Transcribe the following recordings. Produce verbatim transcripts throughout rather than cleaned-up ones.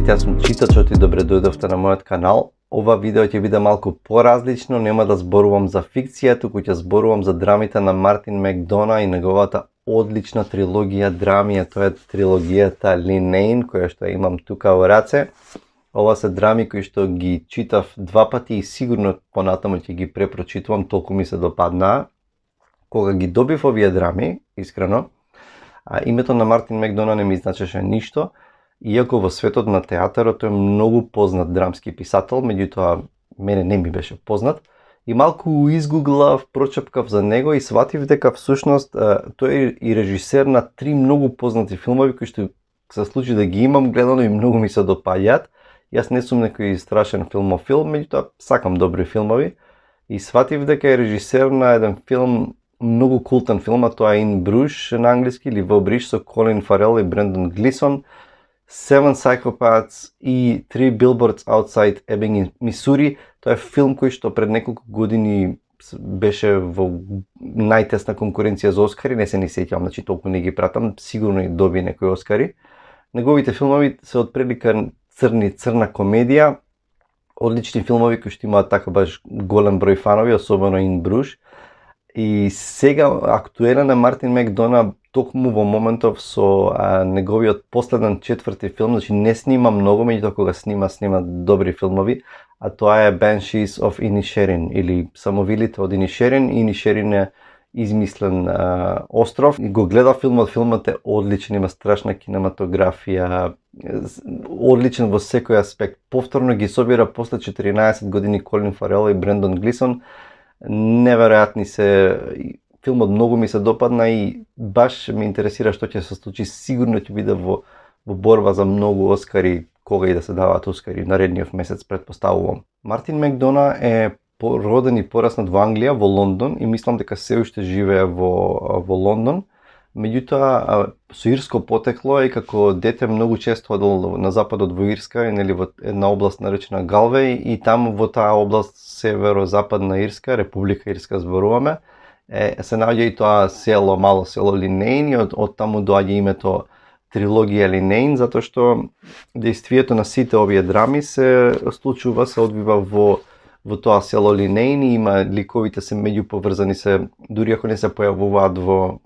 Здравейте, јас сум читачот и добре дојдовте на мојот канал. Ова видео ќе биде малку поразлично, нема да зборувам за фикција, туку ќе зборувам за драмите на Мартин Макдона и неговата одлична трилогија драми, а тоа е трилогијата Линейн, која што имам тука во раце. Ова се драми кои што ги читав два пати и сигурно понатаму ќе ги препрочитувам, толку ми се допаднаа. Кога ги добив овие драми, искрено, а името на Мартин Макдона не ми значеше ништо, иако во светот на театарот тој е многу познат драмски писател, меѓутоа мене не ми беше познат. И малку изгуглав, прочепкав за него и сватив дека всушност тој е и режисер на три многу познати филмови кои што се случи да ги имам гледано и многу ми се допаѓаат. Јас не сум некој страшен филмофил, меѓутоа сакам добри филмови и сватив дека е режисер на еден филм, многу култен филм, а тоа е In Bruges на англиски или Во Бриж со Колин Фарел и Брендан Глисон, Seven Psychopaths и Three Billboards Outside Ebbing, Мисури. Тоа е филм кој што пред неколку години беше во најтесна конкуренција за Оскари, не се ни сеќавам, значи толку не ги пратам, сигурно и доби некои Оскари. Неговите филмови се од прилика црни црна комедија, одлични филмови кои што имаат така баш голем број фанови, особено In Bruges. И сега актуелен е Мартин Макдона токму во моментов со а, неговиот последен четврти филм, значи не снима многу, меѓутоа кога снима, снима добри филмови, а тоа е Banshees of Inisherin или Самовилите од Инишерин. Инишерин е измислен а, остров. И го гледа филмот, филмот е одличен, има страшна кинематографија, одличен во секој аспект. Повторно ги собира после четиринаесет години Колин Фарел и Брендан Глисон. Неверојатни се, филмот многу ми се допадна и баш ме интересира што ќе се случи. Сигурно ќе биде во, во борба за многу Оскари, кога и да се даваат Оскари наредниот месец, предпоставувам. Мартин Макдона е роден и пораснат во Англија, во Лондон, и мислам дека се уште живее во, во Лондон. Меѓутоа, со ирско потекло и како дете многу често одел на западот во Ирска, нели во една област наречена Галвеј, и таму во таа област северо-западна Ирска, Република Ирска зборуваме, е, се наоѓа и тоа село, мало село Линейн, и од, од таму доаѓа името трилогија Линейн, затоа што дејствието на сите овие драми се случува, се одвива во во тоа село Линейн, и има ликовите се меѓу поврзани се, дури ако не се појавуваат во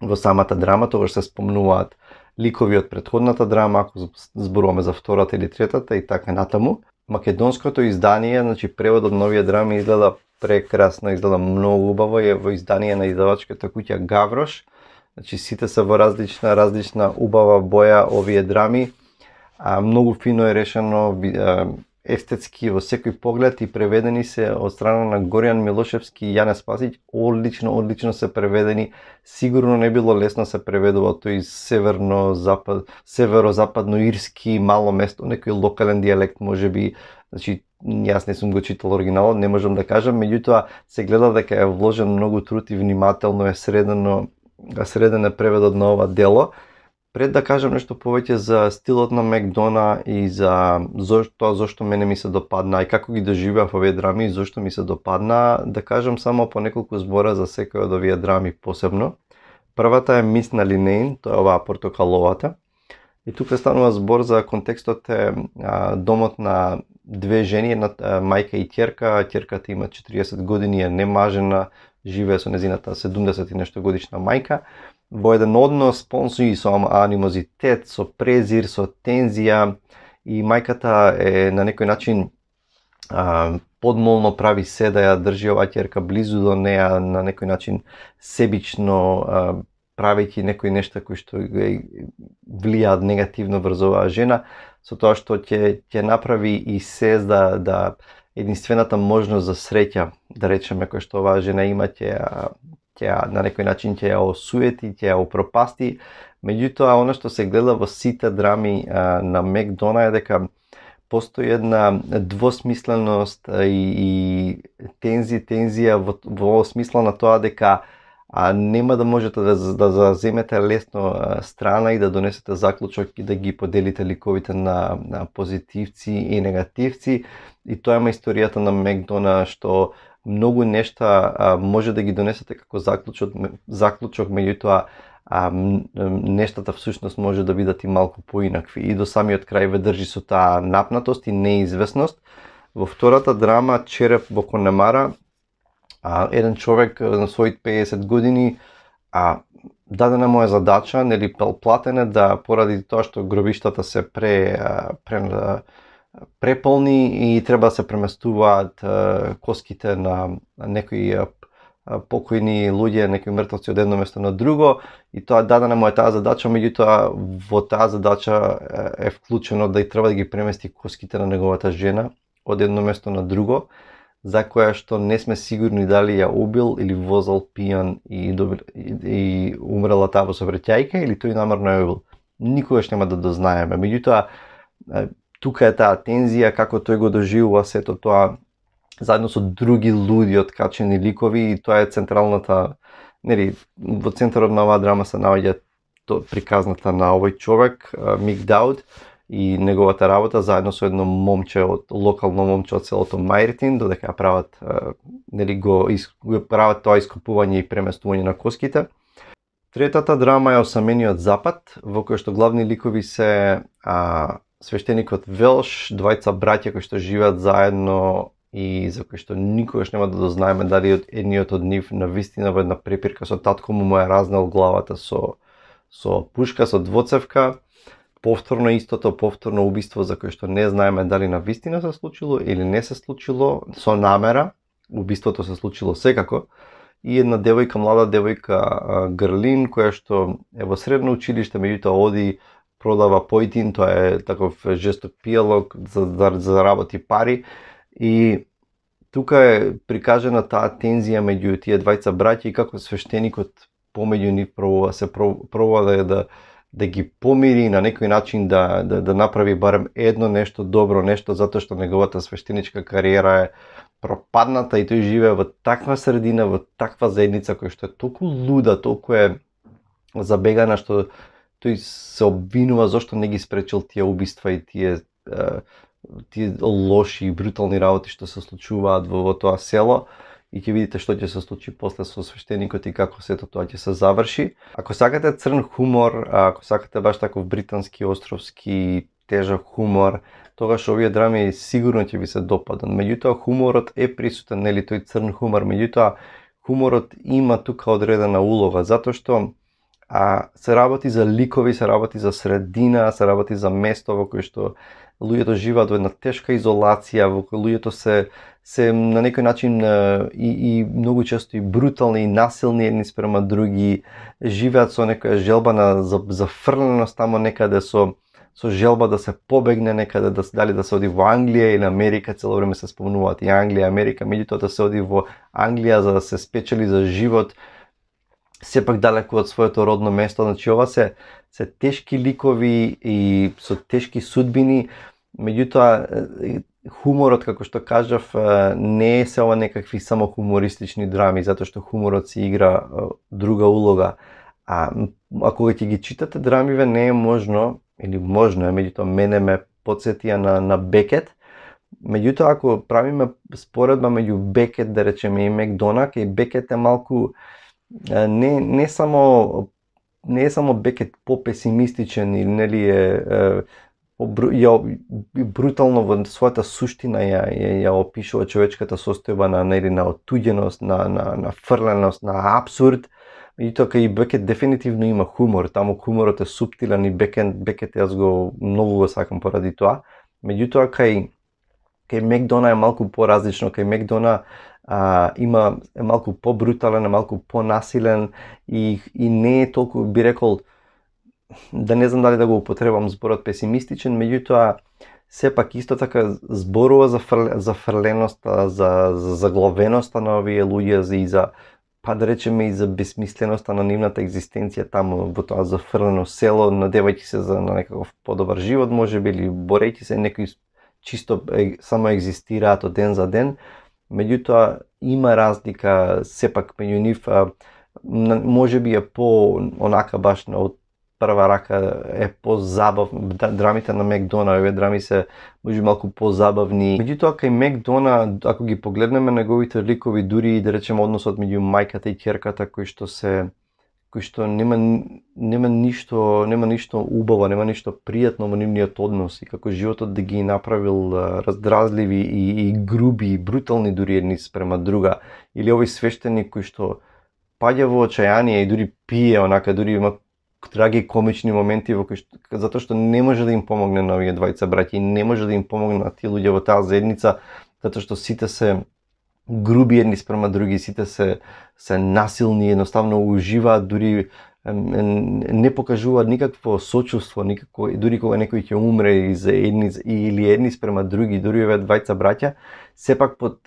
во самата драма, тогаш се спомнуваат ликови од претходната драма, ако зборуваме за втората или третата и така натаму. Македонското издание, значи преводот на овие драми изгледа прекрасно, изгледа многу убаво, е во издание на издавачката куќа Гаврош. Значи сите се во различна различна убава боја овие драми. А, многу фино е решено, естетски во секој поглед, и преведени се од страна на Горијан Милошевски и Јане Спасиќ. Одлично, одлично се преведени. Сигурно не било лесно се преведува тој северно запад, северо-западно ирски мало место, некој локален дијалект можеби. Значи јас не сум го читал оригиналот, не можам да кажам, меѓутоа се гледа дека е вложен многу труд и внимателно е средено среден е преведот на ова дело. Пред да кажам нешто повеќе за стилот на Макдона и за зошто зошто мене ми се допадна и како ги доживеав овие драми и зошто ми се допадна, да кажам само по неколку збора за секој од овие драми посебно. Првата е Мис на Линейн, тоа е оваа портокаловата. И тука станува збор за контекстот е а, домот на две жени, една мајка и ќерка. Ќерката има четириесет години, е немажена, живее со незината седумдесет и нешто годишна мајка. Во еден однос полн со анимозитет, со презир, со тензија, и мајката е на некој начин а, подмолно прави се да ја држи оваа ќерка близу до неа, на некој начин себично, а, правејќи некои нешта кои што влијаат негативно врз оваа жена, со тоа што ќе ќе направи и се да да единствената можност за среќа, да речеме, кој што оваа жена има, ќе ќе на некој начин ќе ја осуети, ќе ја упропасти. Меѓутоа, она што се гледа во сите драми а, на Макдона е дека постои една двосмисленост и, и тензи, тензија во, во смисла на тоа дека а, нема да можете да, да заземете лесно а, страна и да донесете заклучок и да ги поделите ликовите на, на позитивци и негативци. И тоа е историјата на Макдона, што многу нешта а, може да ги донесете како заклучок, заклучок, меѓутоа а нештата всушност може да бидат и малку поинакви. И до самиот крај ве држи со таа напнатост и неизвестност. Во втората драма Череп во Конемара, а, еден човек на своите пеесет години а, дадена му е задача, нели платене да поради тоа што гробиштата се пре, пре преполни и треба да се преместуваат коските на некои покојни луѓе, некои мртвци од едно место на друго, и тоа дадена му е таа задача, меѓутоа во таа задача е вклучено да и треба да ги премести коските на неговата жена од едно место на друго, за која што не сме сигурни дали ја убил или возел пијан и, добил, и, и умрела таа во сообраќајка или тој намерно ја убил. Никогаш нема да дознаеме. Меѓутоа, тука е таа тензија, како тој го доживува сето тоа заедно со други луди откачени ликови, и тоа е централната, нели, во центарот на оваа драма се наоѓа приказната на овој човек, Мик Дауд, и неговата работа заедно со едно момче од локално момче од селото Мајртин, додека прават, нели, го, го прават тоа искупување и преместување на коските. Третата драма е Осамениот запад, во кој што главни ликови се а, свештеникот Велш, двајца браќа кои што живеат заедно и за кои што никогаш нема да дознаеме дали од едниот од нив на вистина во една препирка со татко му му е разнел главата со со пушка, со двоцевка. Повторно истото, повторно убиство за кое што не знаеме дали на вистина се случило или не се случило, со намера. Убиството се случило секако. И една девојка, млада девојка Грлин, која што е во средно училиште, меѓутоа оди продава појтин, тоа е таков жесток пијалок за да заработи пари. И тука е прикажена таа тензија меѓу тие двајца браќа и како свештеникот помеѓу нив пробува се пробува да да да ги помири на некој начин да да да направи барем едно нешто добро, нешто затоа што неговата свештеничка кариера е пропадната и тој живее во таква средина, во таква заедница која што е толку луда, толку е забегана што тој се обвинува зошто не ги спречил тие убиства и тие тие лоши и брутални работи што се случуваат во, во тоа село, и ќе видите што ќе се случи после со свештеникот и како сето тоа ќе се заврши. Ако сакате црн хумор, ако сакате баш таков британски, островски, тежок хумор, тогаш овие драми сигурно ќе ви се допадат. Меѓутоа хуморот е присутен, нели, тој црн хумор, меѓутоа хуморот има тука одредена улога, затоа што а, се работи за ликови, се работи за средина, се работи за место во кој што луѓето живеат во една тешка изолација, во кој луѓето се се на некој начин и, и многу често и брутални и насилни едни спрема други, живеат со некоја желба на зафрленост тамо некаде, со со желба да се побегне некаде, да дали да се оди во Англија или Америка, цело време се спомнуваат и Англија, Америка, меѓутоа да се оди во Англија за да се спечели за живот, сепак далеку од своето родно место. Значи ова се се тешки ликови и со тешки судбини, меѓутоа хуморот, како што кажав, не е се ова некакви само хумористични драми, затоа што хуморот си игра друга улога. А ако ќе ги читате драмиве, не е можно, или можно е, меѓутоа мене ме потсетија на, на Бекет. Меѓутоа, ако правиме споредба меѓу Бекет, да речеме, и Макдонагh, и Бекет е малку не, не само не е само Бекет по-песимистичен или нели е, е ја брутално во својата суштина ја, ја, ја опишува човечката состојба на нели на отуѓеност, на на на фрленост, на апсурд. И тоа кај Бекет дефинитивно има хумор, таму хуморот е суптилен и Бекет Бекет јас го многу го сакам поради тоа. Меѓутоа кај кај Макдонагh е малку поразлично, кај Макдонагh а, има е малку побрутален, е малку понасилен и и не е толку, би рекол, да не знам дали да го употребам зборот песимистичен, меѓутоа сепак исто така зборува за фр... за фрленоста, за за заглавеноста на овие луѓе и за, па да речеме, и за бесмисленоста на нивната екзистенција таму во тоа зафрлено село, надевајќи се за на некаков подобар живот, можеби, или борејќи се, некои чисто е, само екзистираат од ден за ден. Меѓутоа има разлика сепак меѓу нив, можеби е по онака баш на од прва рака е позабавно. Драмите на Макдонагh, овие драми се може малку позабавни. Меѓутоа кај Макдонагh, ако ги погледнеме неговите ликови, дури и да речеме односот меѓу мајката и ќерката, кој што се кои што нема нема ништо, нема ништо убаво, нема ништо пријатно во нивниот однос и како животот да ги направил раздразливи и, и груби и брутални дури едни спрема друга, или овој свештеник кој што паѓа во очајание и дури пие онака, дури има траги комични моменти во кои што, затоа што не може да им помогне на овие двајца браќа и не може да им помогне на тие луѓе во таа заедница, затоа што сите се груби едни спрема други, сите се се насилни, едноставно уживаат, дури не покажуваат никакво сочувство, никако, дури кога некој ќе умре и за едни или едни спрема други, дури овие двајца браќа, сепак под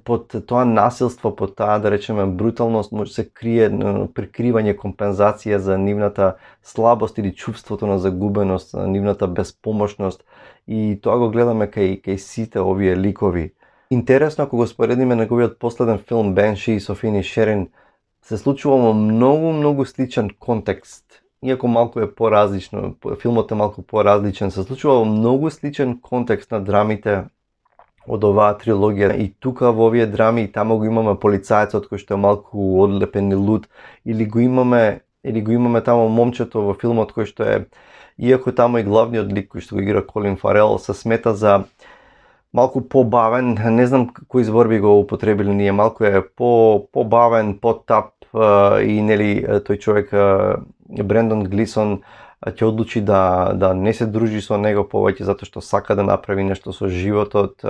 под тоа насилство, под таа, да речеме, бруталност, може се крие прикривање, компензација за нивната слабост или чувството на загубеност, нивната безпомошност, и тоа го гледаме кај кај сите овие ликови. Интересно, ако го споредиме неговиот последен филм Banshees of Inisherin, се случува во многу, многу сличен контекст. Иако малку е поразлично, филмот е малку поразличен, се случува во многу сличен контекст на драмите од оваа трилогија. И тука во овие драми, тамо го имаме полицајецот кој што е малку одлепен и луд, или го имаме, или го имаме тамо момчето во филмот кој што е, иако тамо и главниот лик кој што го игра Колин Фарел, се смета за малку побавен, не знам кои зборби го употребили ние, малку е по побавен, потап и нели тој човек Брендон Глисон ќе одлучи да да не се дружи со него повеќе затоа што сака да направи нешто со животот,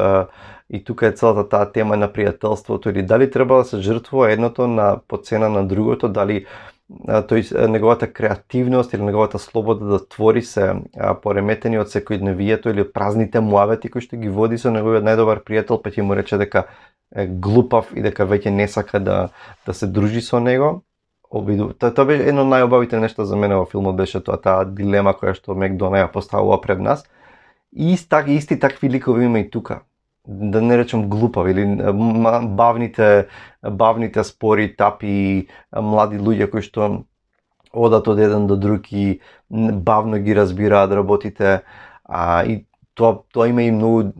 и тука е целата таа тема на пријателството, или дали треба да се жртвува едното на по цена на другото, дали тој неговата креативност или неговата слобода да твори се пореметени од секојдневието или празните муавети кои што ги води со неговиот најдобар пријател, па ќе му рече дека е глупав и дека веќе не сака да да се дружи со него. Обиду. Тоа, тоа беше едно од најубавите нешта за мене во филмот, беше тоа таа дилема која што Мекдона ја поставува пред нас. И так, исти такви ликови има и тука. Да не речем глупави, или бавните бавните спори, тапи, млади луѓе кои што одат од еден до друг и бавно ги разбираат работите, а и тоа тоа има и многу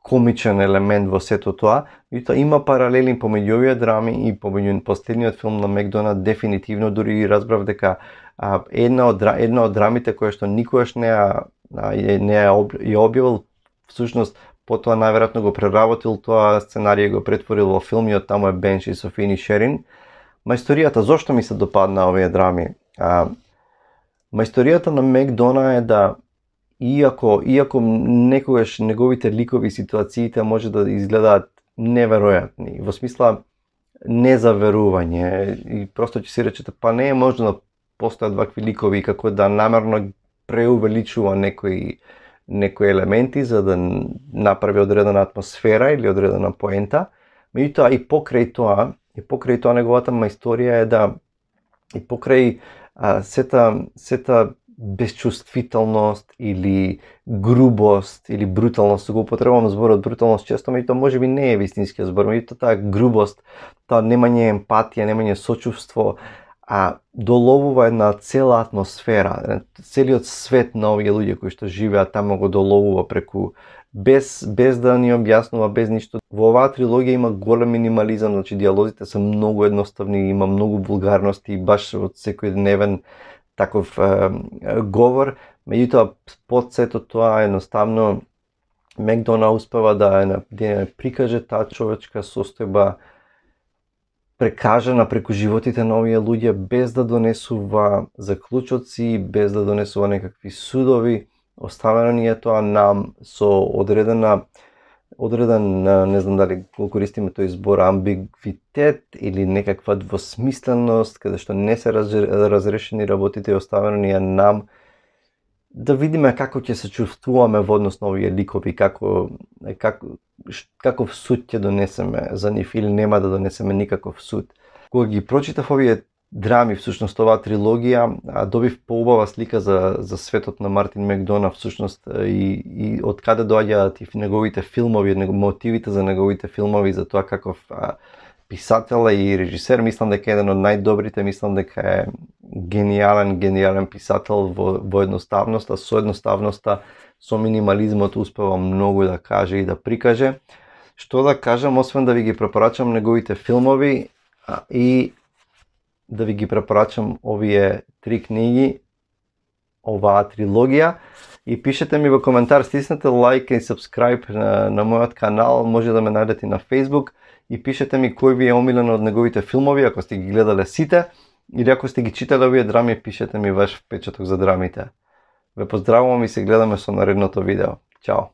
комичен елемент во сето тоа, и тоа има паралели помеѓу овие драми и помеѓу последниот филм на Мекдона. Дефинитивно дури разбрав дека а, една од една од драмите која што никогаш не ја не ја објавил, всушност потоа најверојатно го преработил тоа сценарија, го претворил во филм, и од таму е Banshees of Inisherin. Мајсторијата, зошто ми се допадна овие драми? А, мајсторијата на Мекдона е да Иако, иако некогаш неговите ликови ситуациите може да изгледаат неверојатни, во смисла незаверување, и просто ќе си речете, па не е можно да постојат вакви ликови, како да намерно преувеличува некои некои елементи за да направи одредена атмосфера или одредена поента. Меѓутоа и покрај тоа, и покрај тоа неговата мајсторија е да и покрај а, сета сета безчувствителност или грубост или бруталност, го употребувам зборот бруталност често, меѓутоа можеби не е вистинскиот збор, меѓутоа таа грубост, таа немање емпатија, немање сочувство, а доловува една цела атмосфера, целиот свет на овие луѓе кои што живеат тамо го доловува преку без без да ни објаснува, без ништо. Во оваа трилогија има голем минимализам, значи диалозите се многу едноставни, има многу вулгарности, баш од секојдневен таков е, говор, меѓутоа под сето тоа едноставно Мекдона успева да е да прикаже таа човечка состојба прекажана преку животите на овие луѓе, без да донесува заклучоци, без да донесува некакви судови. Оставено ни е тоа нам со одредена одреден, не знам дали го користиме тој збор, амбигвитет или некаква двосмисленост, каде што не се разрешени работите, и оставено ни е нам да видиме како ќе се чувствуваме во однос на овие ликови, како, како, каков суд ќе донесеме за нив или нема да донесеме никаков суд. Кога ги прочитав овие драми, всушност оваа трилогија, добив поубава слика за, за светот на Мартин Мекдона, всушност, и, и од каде доаѓаат и неговите филмови, мотивите за неговите филмови, за тоа каков а, писател и режисер. Мислам дека е еден од најдобрите, мислам дека е гениален, гениален писател во, во едноставноста, со едноставноста, со минимализмот успева многу да каже и да прикаже. Што да кажам, освен да ви ги препорачам неговите филмови, а, и да ви ги препорачам овие три книги, оваа трилогија. И пишете ми во коментар, стиснете лайк и subscribe на, на мојот канал, може да ме најдете на Facebook и пишете ми кој ви е омилен од неговите филмови, ако сте ги гледале сите, или ако сте ги читале овие драми, пишете ми ваш впечаток за драмите. Ве поздравувам и се гледаме со наредното видео. Чао!